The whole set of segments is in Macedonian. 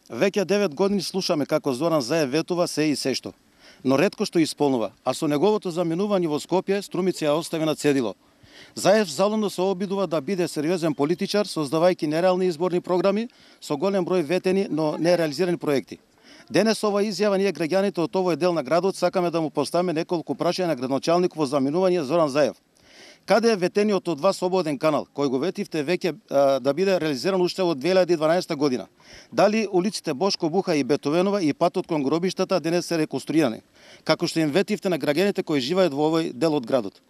Веќе 9 години слушаме како Зоран Заев ветува се и сешто, но ретко што исполнува, а со неговото заменување во Скопје Струмица ја остави на цедило. Заев залудно се обидува да биде сериозен политичар, создавајќи нереални изборни програми со голем број ветени, но нереализирани проекти. Денес ова изјава ние граѓаните од овој дел на градот сакаме да му поставиме неколку прашања на градоначалникот во заменување Зоран Заев. Каде е ветениот од вас ободен канал, кој го ветивте веќе да биде реализиран уште од 2012 година? Дали улиците Бошко Буха и Бетовенова и патот кон гробиштата денес се реконструирани, како што им ветивте на граѓаните кои живеат во овој дел од градот?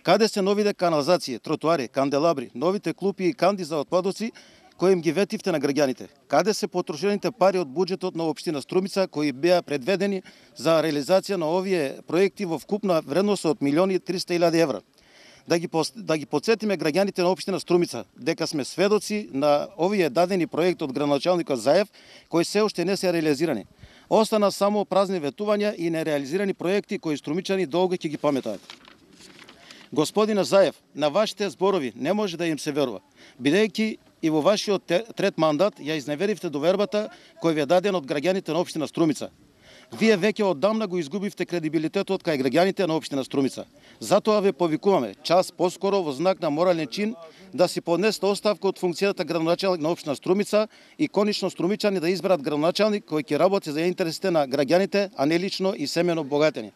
Каде се новите канализации, тротоари, канделабри, новите клупи и канди за отпадоци кои им ги ветивте на граѓаните? Каде се потрошените пари од буџетот на општина Струмица кои беа предведени за реализација на овие проекти во вкупна вредност од 1.300.000 евра? Да ги подсетиме граѓаните на општина Струмица дека сме сведоци на овие дадени проекти од градоначалникот Заев кои се уште не се реализирани. Остана само празни ветувања и нереализирани проекти кои струмичани долго ќе ги паметаат. Господине Заев, на вашите зборови не може да им се верува, бидејќи и во вашиот трет мандат ја изневеривте довербата кој ви е даден од граѓаните на општина Струмица. Вие веќе оддамна го изгубивте кредибилитетот кај граѓаните на општина Струмица. Затоа ве повикуваме час поскоро во знак на морален чин да си поднесете оставка од функцијата градоначалник на општина Струмица и конечно струмичани да изберат градоначалник кој ќе работи за интересите на граѓаните, а не лично и семено богатени.